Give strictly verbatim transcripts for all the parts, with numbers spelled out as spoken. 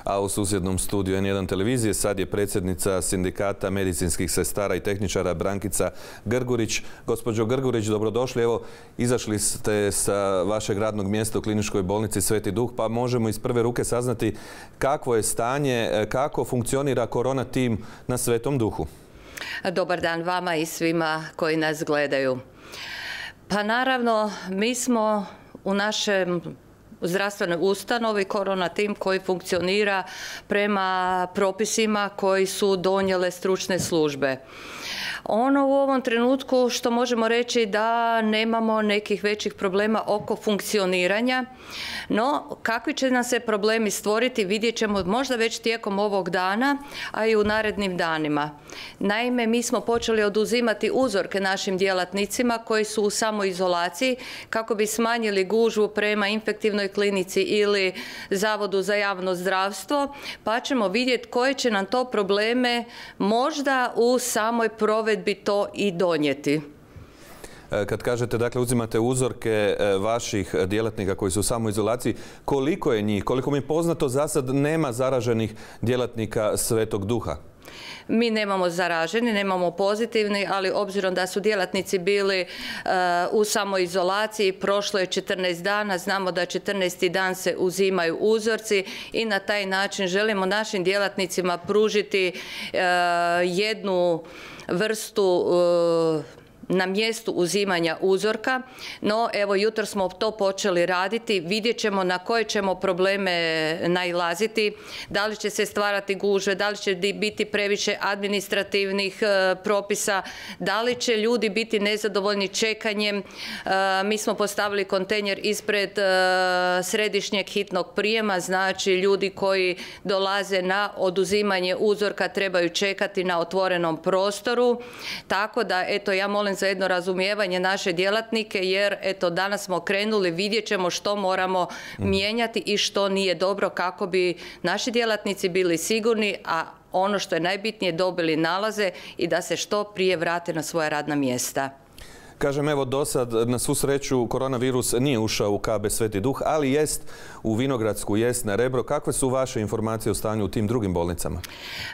A u susjednom studiju en jedan televizije sad je predsjednica Sindikata medicinskih sestara i tehničara Brankica Grgurić. Gospođo Grgurić, dobrodošli. Evo, izašli ste sa vašeg radnog mjesta u Kliničkoj bolnici Sveti Duh, pa možemo iz prve ruke saznati kakvo je stanje, kako funkcionira korona tim na Svetom Duhu. Dobar dan vama i svima koji nas gledaju. Pa naravno, mi smo u našem zdravstvenoj ustanovi korona tim koji funkcionira prema propisima koji su donijele stručne službe. Ono u ovom trenutku što možemo reći da nemamo nekih većih problema oko funkcioniranja, no kakvi će nam se problemi stvoriti vidjet ćemo možda već tijekom ovog dana, a i u narednim danima. Naime, mi smo počeli oduzimati uzorke našim djelatnicima koji su u samoizolaciji kako bi smanjili gužvu prema infektivnoj klinici ili Zavodu za javno zdravstvo, pa ćemo vidjeti koje će nam to probleme možda u samoj provedbi to i donijeti. Kad kažete, dakle, uzimate uzorke vaših djelatnika koji su u samoizolaciji, koliko je njih? Koliko mi je poznato, za sad nema zaraženih djelatnika Svetog Duha? Mi nemamo zaraženi, nemamo pozitivni, ali obzirom da su djelatnici bili uh, u samoizolaciji, prošlo je četrnaest dana, znamo da četrnaesti dan se uzimaju uzorci i na taj način želimo našim djelatnicima pružiti uh, jednu vrstu uh, na mjestu uzimanja uzorka, no evo jutro smo to počeli raditi, vidjet ćemo na koje ćemo probleme nailaziti, da li će se stvarati gužve, da li će biti previše administrativnih e, propisa, da li će ljudi biti nezadovoljni čekanjem. E, mi smo postavili kontejner ispred e, središnjeg hitnog prijema, znači ljudi koji dolaze na oduzimanje uzorka trebaju čekati na otvorenom prostoru, tako da eto ja molim za jedno razumijevanje naše djelatnike, jer eto danas smo krenuli, vidjet ćemo što moramo mijenjati i što nije dobro kako bi naši djelatnici bili sigurni, a ono što je najbitnije dobili nalaze i da se što prije vrate na svoja radna mjesta. Kažem, evo, do sad, na svu sreću, koronavirus nije ušao u K B Sveti Duh, ali jest u Vinogradsku, jest na Rebro. Kakve su vaše informacije o stanju u tim drugim bolnicama?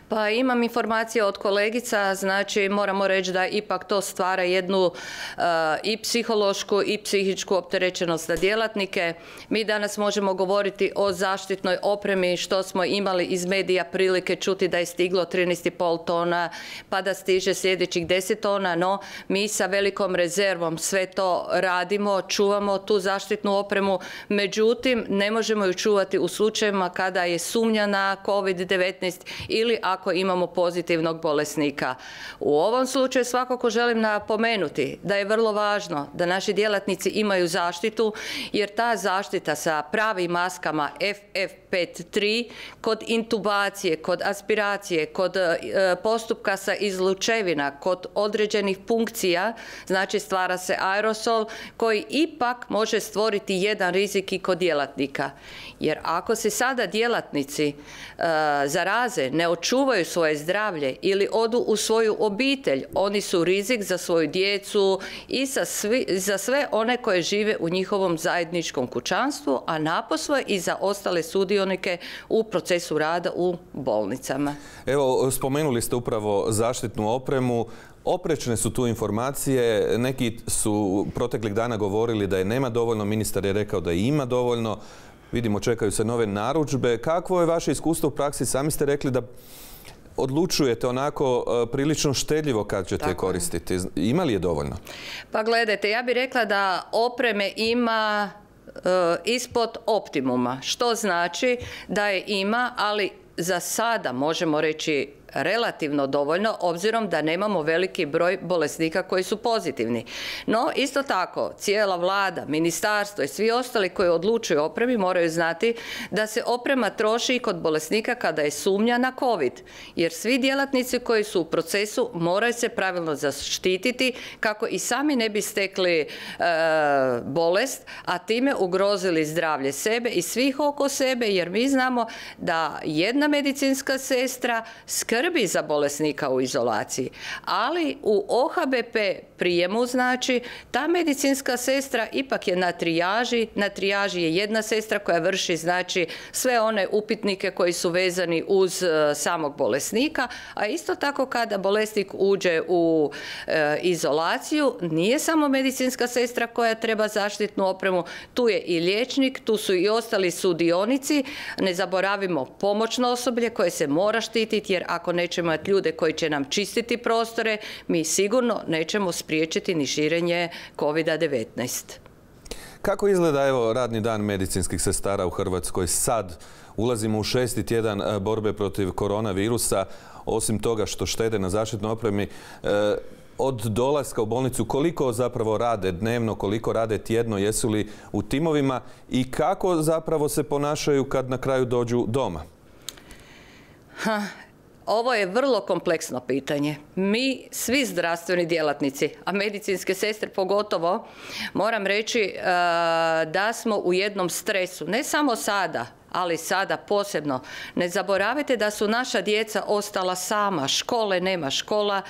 Pa imam informacije od kolegica, znači moramo reći da ipak to stvara jednu uh, i psihološku i psihičku opterećenost na djelatnike. Mi danas možemo govoriti o zaštitnoj opremi, što smo imali iz medija prilike čuti da je stiglo trinaest i pol tona, pa da stiže sljedećih deset tona, no mi sa velikom rezervom rezervom sve to radimo, čuvamo tu zaštitnu opremu, međutim ne možemo ju čuvati u slučajevima kada je sumnja na kovid devetnaest ili ako imamo pozitivnog bolesnika. U ovom slučaju svakako želim napomenuti da je vrlo važno da naši djelatnici imaju zaštitu, jer ta zaštita sa pravim maskama F F P tri kod intubacije, kod aspiracije, kod e, postupka sa izlučevina, kod određenih punkcija, znači stvara se aerosol koji ipak može stvoriti jedan rizik i kod djelatnika. Jer ako se sada djelatnici e, zaraze, ne očuvaju svoje zdravlje ili odu u svoju obitelj, oni su rizik za svoju djecu i za, svi, za sve one koje žive u njihovom zajedničkom kućanstvu, a naposle i za ostale sudionike u procesu rada u bolnicama. Evo, spomenuli ste upravo zaštitnu opremu. Oprečne su tu informacije. Neki su proteklih dana govorili da je nema dovoljno, ministar je rekao da ima dovoljno. Vidimo, čekaju se nove narudžbe. Kakvo je vaše iskustvo u praksi? Sami ste rekli da odlučujete onako prilično štedljivo kad ćete je koristiti. Ima li je dovoljno? Pa gledajte, ja bih rekla da opreme ima e, ispod optimuma. Što znači da je ima, ali za sada možemo reći relativno dovoljno, obzirom da nemamo veliki broj bolesnika koji su pozitivni. No, isto tako, cijela vlada, ministarstvo i svi ostali koji odlučuju o opremi moraju znati da se oprema troši i kod bolesnika kada je sumnja na COVID. Jer svi djelatnici koji su u procesu moraju se pravilno zaštititi kako i sami ne bi stekli e, bolest, a time ugrozili zdravlje sebe i svih oko sebe, jer mi znamo da jedna medicinska sestra skrbi skrbi za bolesnika u izolaciji. Ali u O H B P prijemu, znači, ta medicinska sestra ipak je na trijaži. Na trijaži je jedna sestra koja vrši, znači, sve one upitnike koji su vezani uz e, samog bolesnika, a isto tako kada bolesnik uđe u e, izolaciju, nije samo medicinska sestra koja treba zaštitnu opremu, tu je i liječnik, tu su i ostali sudionici. Ne zaboravimo pomoćno osoblje koje se mora štititi, jer ako nećemo imati ljude koji će nam čistiti prostore, mi sigurno nećemo spriječiti ni širenje kovida devetnaest. Kako izgleda evo radni dan medicinskih sestara u Hrvatskoj sad? Ulazimo u šesti tjedan borbe protiv koronavirusa. Osim toga što štede na zaštitnoj opremi, od dolaska u bolnicu koliko zapravo rade dnevno, koliko rade tjedno, jesu li u timovima i kako zapravo se ponašaju kad na kraju dođu doma? Ha. Ovo je vrlo kompleksno pitanje. Mi, svi zdravstveni djelatnici, a medicinske sestre pogotovo, moram reći da smo u jednom stresu. Ne samo sada, ali sada posebno. Ne zaboravite da su naša djeca ostala sama. Škole nema. Škola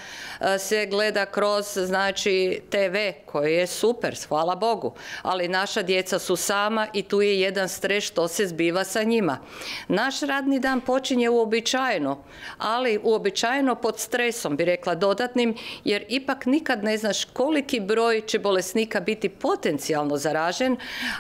se gleda kroz, znači, te ve, koji je super, hvala Bogu. Ali naša djeca su sama i tu je jedan stres što se zbiva sa njima. Naš radni dan počinje uobičajeno, ali uobičajeno pod stresom, bi rekla dodatnim, jer ipak nikad ne znaš koliki broj će bolesnika biti potencijalno zaražen,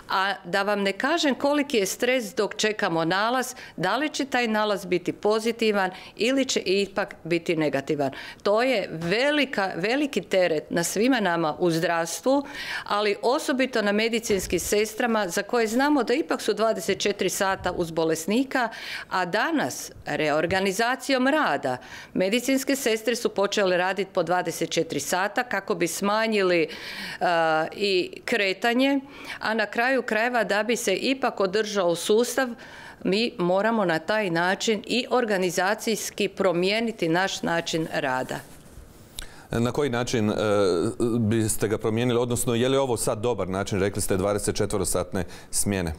a da vam ne kažem koliki je stres dok čekamo nalaz, da li će taj nalaz biti pozitivan ili će ipak biti negativan. To je velika, veliki teret na svima nama u zdravstvu, ali osobito na medicinskim sestrama za koje znamo da ipak su dvadeset četiri sata uz bolesnika, a danas reorganizacijom rada medicinske sestre su počele raditi po dvadeset četiri sata kako bi smanjili uh, i kretanje, a na kraju krajeva da bi se ipak održao sustav, mi moramo na taj način i organizacijski promijeniti naš način rada. Na koji način e, biste ga promijenili, odnosno je li ovo sad dobar način, rekli ste dvadesetčetverosatne smjene?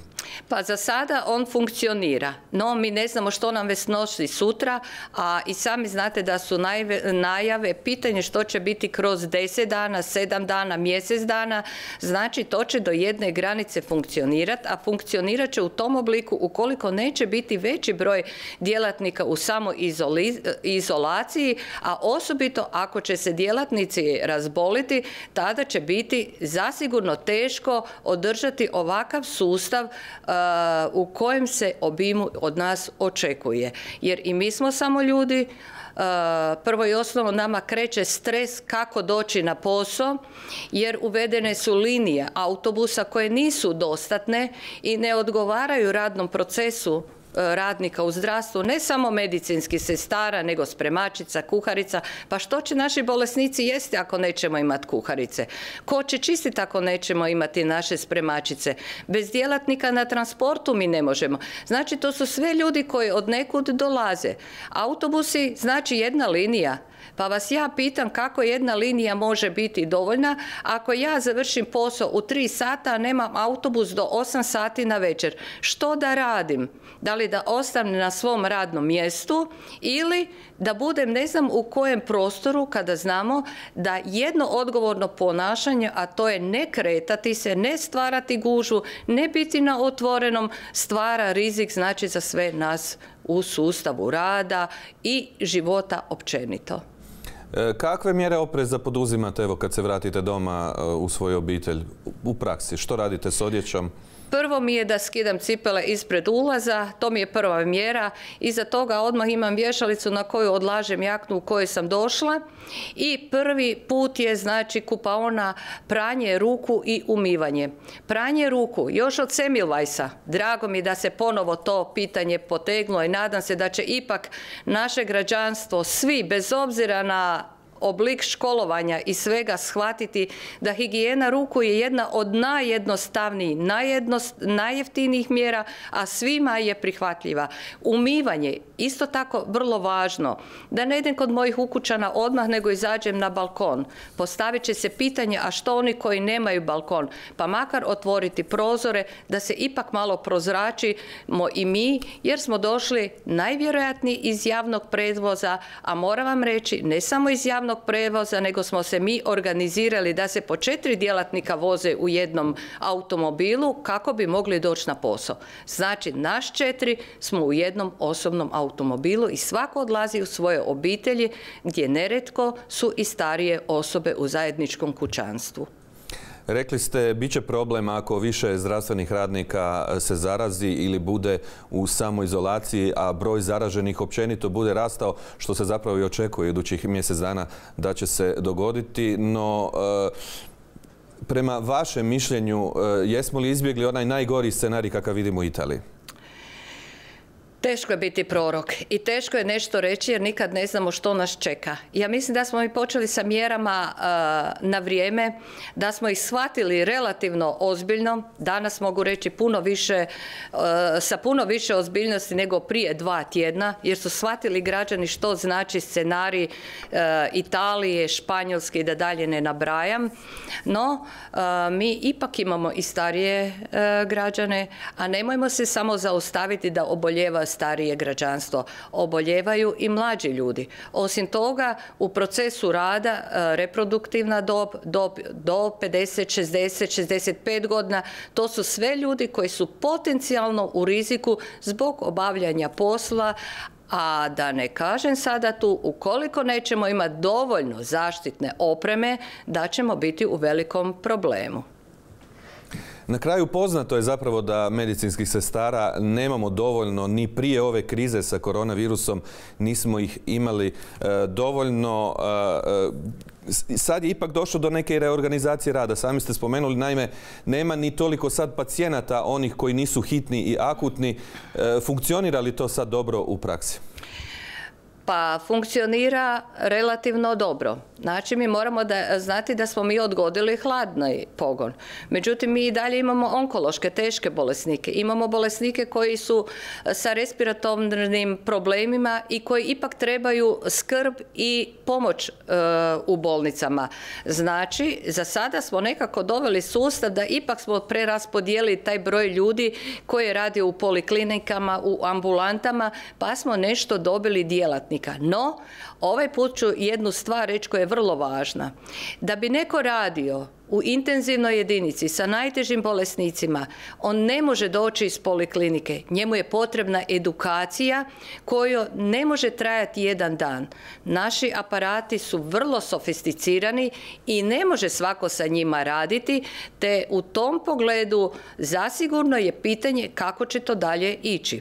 Pa za sada on funkcionira, no mi ne znamo što nam već nosi sutra, a i sami znate da su najave, pitanje što će biti kroz deset dana, sedam dana, mjesec dana, znači to će do jedne granice funkcionirati, a funkcionirat će u tom obliku ukoliko neće biti veći broj djelatnika u samoizolaciji, a osobito ako će se djelatnici razboliti, tada će biti zasigurno teško održati ovakav sustav uh, u kojem se obimu od nas očekuje. Jer i mi smo samo ljudi, uh, prvo i osnovno nama kreće stres kako doći na posao, jer uvedene su linije autobusa koje nisu dostatne i ne odgovaraju radnom procesu radnika u zdravstvu, ne samo medicinskih sestara, nego spremačica, kuharica. Pa što će naši bolesnici jesti ako nećemo imati kuharice? Ko će čistiti ako nećemo imati naše spremačice? Bez djelatnika na transportu mi ne možemo. Znači, to su sve ljudi koji od nekud dolaze. Autobusi, znači jedna linija. Pa vas ja pitam kako jedna linija može biti dovoljna ako ja završim posao u tri sata, a nemam autobus do osam sati na večer. Što da radim? Da li da ostanem na svom radnom mjestu ili da budem ne znam u kojem prostoru kada znamo da jedno odgovorno ponašanje, a to je ne kretati se, ne stvarati gužvu, ne biti na otvorenom, stvara rizik, znači, za sve nas u sustavu rada i života općenito. Kakve mjere opreza poduzimate evo kad se vratite doma u svoju obitelj u praksi? Što radite s odjećom? Prvo mi je da skidam cipele ispred ulaza, to mi je prva mjera. Iza toga odmah imam vješalicu na koju odlažem jaknu u kojoj sam došla. I prvi put je, znači, kupaona, pranje ruku i umivanje. Pranje ruku, još od Semmelweisa. Drago mi da se ponovo to pitanje potegnulo i nadam se da će ipak naše građanstvo, svi, bez obzira na oblik školovanja i svega shvatiti da higijena ruku je jedna od najjednostavnijih, najjeftinijih mjera, a svima je prihvatljiva. Umivanje, isto tako vrlo važno. Da ne idem kod mojih ukućana odmah, nego izađem na balkon. Postavit će se pitanje, a što oni koji nemaju balkon? Pa makar otvoriti prozore, da se ipak malo prozračimo i mi, jer smo došli najvjerojatnije iz javnog prevoza, a moram vam reći, ne samo iz javnog prevoza, nego smo se mi organizirali da se po četiri djelatnika voze u jednom automobilu kako bi mogli doći na posao. Znači, naš četiri smo u jednom osobnom automobilu i svako odlazi u svoje obitelji, gdje neretko su i starije osobe u zajedničkom kućanstvu. Rekli ste, bit će problem ako više zdravstvenih radnika se zarazi ili bude u samoizolaciji, a broj zaraženih općenito bude rastao, što se zapravo i očekuje idućih mjesec dana da će se dogoditi. No, prema vašem mišljenju, jesmo li izbjegli onaj najgori scenarij kakav vidimo u Italiji? Teško je biti prorok i teško je nešto reći jer nikad ne znamo što nas čeka. Ja mislim da smo mi počeli sa mjerama uh, na vrijeme, da smo ih shvatili relativno ozbiljno. Danas mogu reći puno više, uh, sa puno više ozbiljnosti nego prije dva tjedna, jer su shvatili građani što znači scenarij uh, Italije, Španjolske i da dalje ne nabrajam. No, uh, mi ipak imamo i starije uh, građane, a nemojmo se samo zaustaviti da oboljeva starije građanstvo. Oboljevaju i mlađi ljudi. Osim toga, u procesu rada reproduktivna dob, dob do pedeset, šezdeset, šezdeset pet godina, to su sve ljudi koji su potencijalno u riziku zbog obavljanja posla, a da ne kažem sada tu, ukoliko nećemo imati dovoljno zaštitne opreme, da ćemo biti u velikom problemu. Na kraju poznato je zapravo da medicinskih sestara nemamo dovoljno ni prije ove krize sa koronavirusom, nismo ih imali e, dovoljno. E, sad je ipak došlo do neke reorganizacije rada. Sami ste spomenuli, naime, nema ni toliko sad pacijenata, onih koji nisu hitni i akutni. E, funkcionira li to sad dobro u praksi? Pa funkcionira relativno dobro. Znači, mi moramo da, znati da smo mi odgodili hladni pogon. Međutim, mi i dalje imamo onkološke, teške bolesnike. Imamo bolesnike koji su sa respiratornim problemima i koji ipak trebaju skrb i pomoć e, u bolnicama. Znači, za sada smo nekako doveli sustav da ipak smo preraspodijelili taj broj ljudi koji radi u poliklinikama, u ambulantama, pa smo nešto dobili djelatnika. No, ovaj put ću jednu stvar reći koja je vrlo važna. Da bi neko radio u intenzivnoj jedinici sa najtežim bolesnicima, on ne može doći iz poliklinike. Njemu je potrebna edukacija koja ne može trajati jedan dan. Naši aparati su vrlo sofisticirani i ne može svako sa njima raditi, te u tom pogledu zasigurno je pitanje kako će to dalje ići.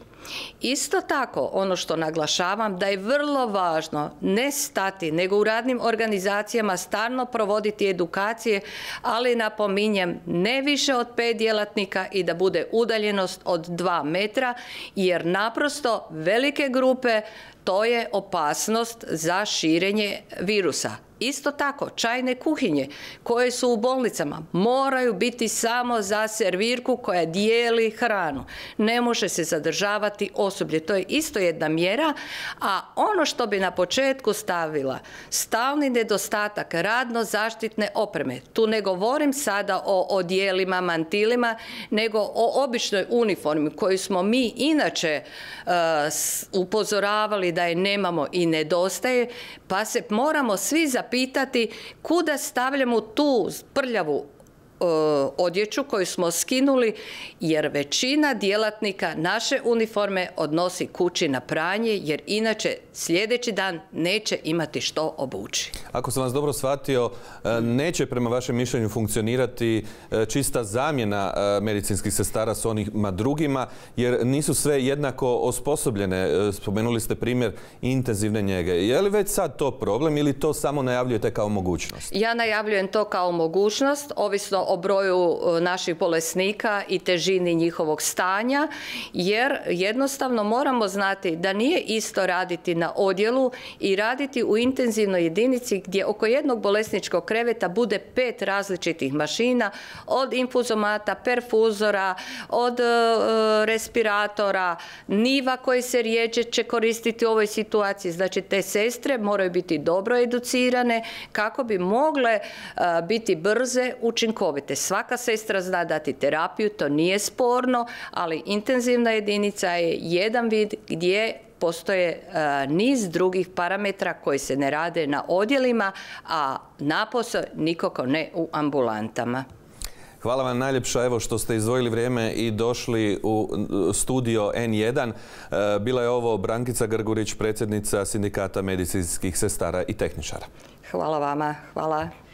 Isto tako, ono što naglašavam, da je vrlo važno ne stati, nego u radnim organizacijama stalno provoditi edukacije, ali napominjem ne više od pet djelatnika i da bude udaljenost od dva metra, jer naprosto velike grupe, to je opasnost za širenje virusa. Isto tako, čajne kuhinje koje su u bolnicama moraju biti samo za servirku koja dijeli hranu. Ne može se zadržavati osoblje. To je isto jedna mjera, a ono što bi na početku stavila, stalni nedostatak radno-zaštitne opreme. Tu ne govorim sada o odijelima, mantilima, nego o običnoj uniformi koju smo mi inače uh, upozoravali da je nemamo i nedostaje, pa se moramo svi zapitati pitati kuda stavljamo tu prljavu e, odjeću koju smo skinuli, jer većina djelatnika naše uniforme odnosi kući na pranje, jer inače sljedeći dan neće imati što obući. Ako sam vas dobro shvatio, neće prema vašem mišljenju funkcionirati čista zamjena medicinskih sestara s onima drugima, jer nisu sve jednako osposobljene. Spomenuli ste primjer intenzivne njege. Je li već sad to problem ili to samo najavljujete kao mogućnost? Ja najavljujem to kao mogućnost, ovisno o broju naših bolesnika i težini njihovog stanja, jer jednostavno moramo znati da nije isto raditi na odjelu i raditi u intenzivnoj jedinici gdje oko jednog bolesničkog kreveta bude pet različitih mašina, od infuzomata, perfuzora, od e, respiratora, niva koji se rijeđe će koristiti u ovoj situaciji. Znači, te sestre moraju biti dobro educirane kako bi mogle a, biti brze, učinkovite. Svaka sestra zna dati terapiju, to nije sporno, ali intenzivna jedinica je jedan vid gdje postoje a, niz drugih parametra koji se ne rade na odjelima, a napose nikako ne u ambulantama. Hvala vam najljepša evo što ste izdvojili vrijeme i došli u studio en jedan. Bila je ovo Brankica Grgurić, predsjednica Sindikata medicinskih sestara i tehničara. Hvala vama. Hvala.